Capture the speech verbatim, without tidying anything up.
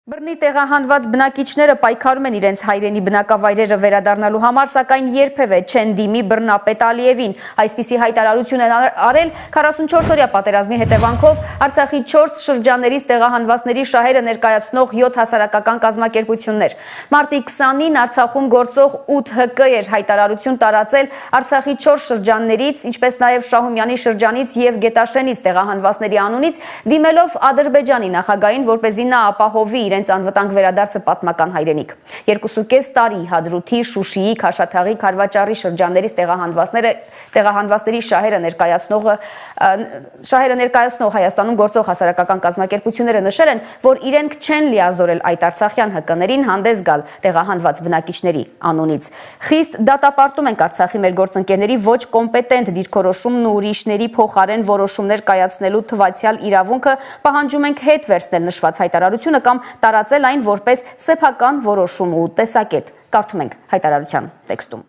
Բռնի տեղահանված բնակիչները պայքարում են իրենց հայրենի բնակավայրերը վերադառնալու համար, սակայն երբևէ չեն դիմի բռնապետ Ալիևին։ Այսպիսի հայտարարություն են արել քառասունչորս-օրյա պատերազմի հետևանքով Արցախի չորս շրջաններից տեղահանվածների շահերը ներկայացնող յոթ հասարակական կազմակերպություններ։ Մարտի քսանին Արցախում գործող ութ հ կը էր հայտարարություն տարածել Արցախի չորս շրջաններից, ինչպես նաև Շահումյանի շրջանից եւ Գետաշենից տեղահանվածների անունից, դիմելով Ադրբեջանի նախագահին, որպեսզի նա ապահովի իրենց անվտանգ վերադարձը պատմական հայրենիք։ Երկուսուկես տարի Հադրութի, Շուշիի, Քաշաթաղի, Քարվաճարի շրջաններից տեղահանվածները տեղահանվածների շահերը ներկայացնողը շահերը ներկայացնող Հայաստանում գործող հասարակական կազմակերպությունները նշել են, որ իրենք չեն լիազորել այդ արցախյան հ կներին հանդես գալ տեղահանված բնակիչների անունից։ Խիստ դատապարտում ենք Արցախի մեր գործընկերների ոչ կոմպետենտ դիրքորոշումն ու ուրիշների փոխարեն որոշումներ կայացնելու թվացյալ իրավունքը, պահանջում ենք հետ վերցնել նշված հայտարարությունը կամ տարածել այն որպես սեփական որոշում ու տեսակետ։ Կարդում ենք հայտարարության տեքստում։